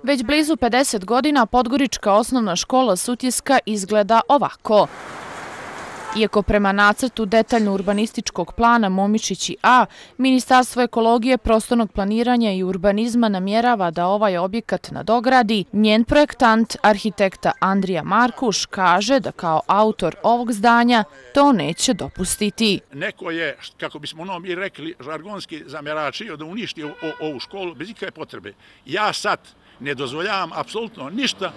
Već blizu 50 godina Podgorička osnovna škola Sutjeska izgleda ovako. Iako prema nacrtu detaljno urbanističkog plana Momišići A, Ministarstvo ekologije, prostornog planiranja i urbanizma namjerava da ovaj objekat nadogradi, njen projektant, arhitekta Andrija Markuš, kaže da kao autor ovog zdanja to neće dopustiti. Neko je, kako bismo mi rekli, žargonski zamjeračio da uništi ovu školu bez ikakve potrebe. Ja sad ne dozvoljavam apsolutno ništa,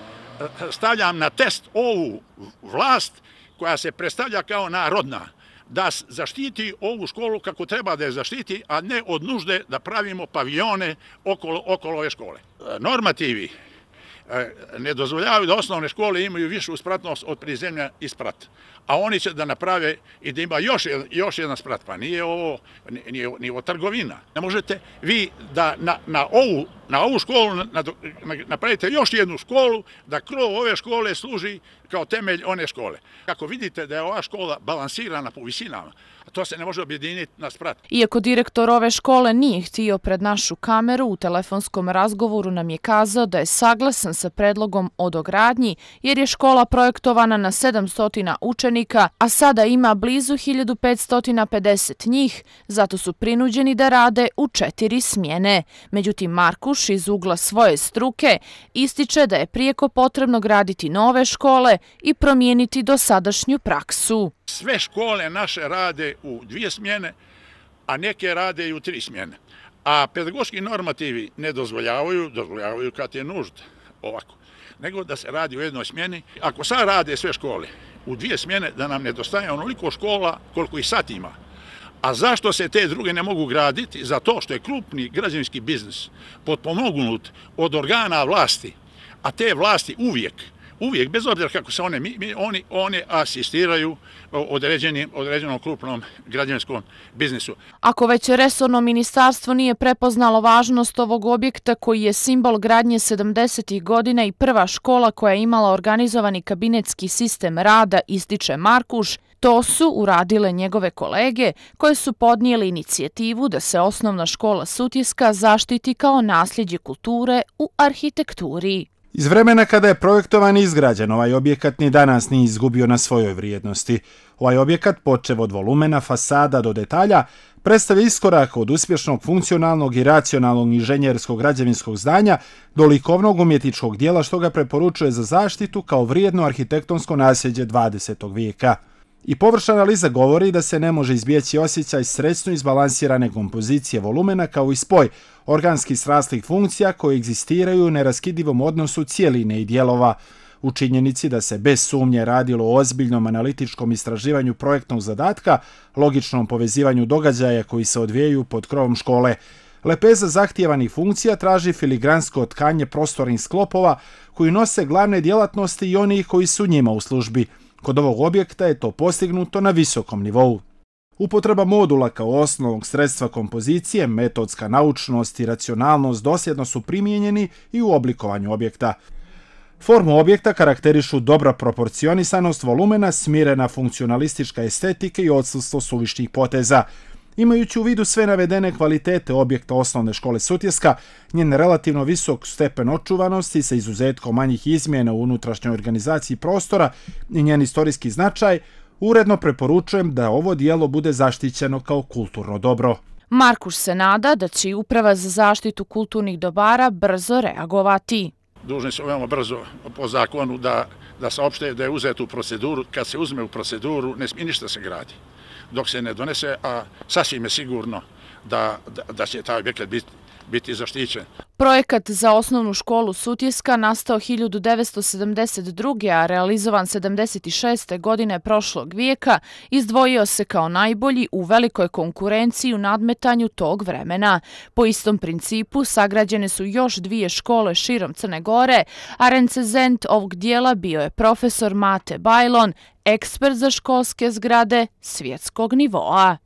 stavljam na test ovu vlast koja se predstavlja kao narodna, da zaštiti ovu školu kako treba da je zaštiti, a ne od nužde da pravimo paviljone okolo ove škole. Normativi ne dozvoljavaju da osnovne škole imaju višu spratnost od prizemlja i sprat, a oni će da naprave i da ima još jedan sprat, pa nije ovo trgovina. Ne možete vi da na ovu školu napravite još jednu školu, da krov ove škole služi kao temelj one škole. Kako vidite da je ova škola balansirana po visinama, to se ne može objediniti na sprat. Iako direktor ove škole nije htio pred našu kameru, u telefonskom razgovoru nam je kazao da je saglasan sa predlogom o dogradnji, jer je škola projektovana na 700 učenika, a sada ima blizu 1550 njih, zato su prinuđeni da rade u 4 smjene. Međutim, Markuš iz ugla svoje struke ističe da je prijeko potrebno graditi nove škole i promijeniti dosadašnju praksu. Sve škole naše rade u 2 smjene, a neke rade i u 3 smjene. A pedagoški normativi ne dozvoljavaju kad je nužda ovako, nego da se radi u jednoj smjeni. Ako sad rade sve škole u 2 smjene, da nam nedostaje onoliko škola koliko ih sad ima. A zašto se te druge ne mogu graditi? Zato što je krupni građevinski biznis potpomognut od organa vlasti, a te vlasti uvijek, bez obzira kako se one asistiraju određenom krupnom građevinskom biznisu. Ako već resorno ministarstvo nije prepoznalo važnost ovog objekta koji je simbol gradnje 70. godina i prva škola koja je imala organizovani kabinetski sistem rada, ističe Markuš, to su uradile njegove kolege koje su podnijeli inicijativu da se osnovna škola Sutjeska zaštiti kao nasljeđe kulture u arhitekturi. Iz vremena kada je projektovan i izgrađen, ovaj objekat ni danas nije izgubio na svojoj vrijednosti. Ovaj objekat, počev od volumena, fasada do detalja, predstavlja iskorak od uspješnog, funkcionalnog i racionalnog inženjerskog građevinskog zdanja do likovnog umjetničkog dijela, što ga preporučuje za zaštitu kao vrijedno arhitektonsko nasljeđe 20. vijeka. I površna analiza govori da se ne može izbjeći osjećaj srećno izbalansirane kompozicije volumena kao i spoj organskih sraslih funkcija koje egzistiraju u neraskidivom odnosu cijeline i dijelova. U činjenici da se bez sumnje radilo o ozbiljnom analitičkom istraživanju projektnog zadatka, logičnom povezivanju događaja koji se odvijaju pod krovom škole. Lepeza zahtijevanih funkcija traži filigransko tkanje prostornih sklopova koji nose glavne djelatnosti i onih koji su njima u službi. Kod ovog objekta je to postignuto na visokom nivou. Upotreba modula kao osnovnog sredstva kompozicije, metodska naučnost i racionalnost dosljedno su primijenjeni i u oblikovanju objekta. Formu objekta karakterišu dobra proporcionisanost volumena, smirena funkcionalistička estetika i odsustvo suvišnih poteza. Imajući u vidu sve navedene kvalitete objekta osnovne škole Sutjeska, njen relativno visok stepen očuvanosti sa izuzetkom manjih izmjena u unutrašnjoj organizaciji prostora i njen istorijski značaj, uredno preporučujem da ovo dijelo bude zaštićeno kao kulturno dobro. Markuš se nada da će Uprava za zaštitu kulturnih dobara brzo reagovati. Dužni su veoma brzo po zakonu da saopšte da je uzet u proceduru. Kad se uzme u proceduru, ne smije ništa se gradi dok se ne donese, a sasvim je sigurno da će taj objekat biti zaštićen. Projekat za osnovnu školu Sutjeska nastao 1972. a realizovan 76. godine prošlog vijeka, izdvojio se kao najbolji u velikoj konkurenciji u nadmetanju tog vremena. Po istom principu sagrađene su još 2 škole širom Crne Gore, a recenzent ovog dijela bio je profesor Mate Bajlon, ekspert za školske zgrade svjetskog nivoa.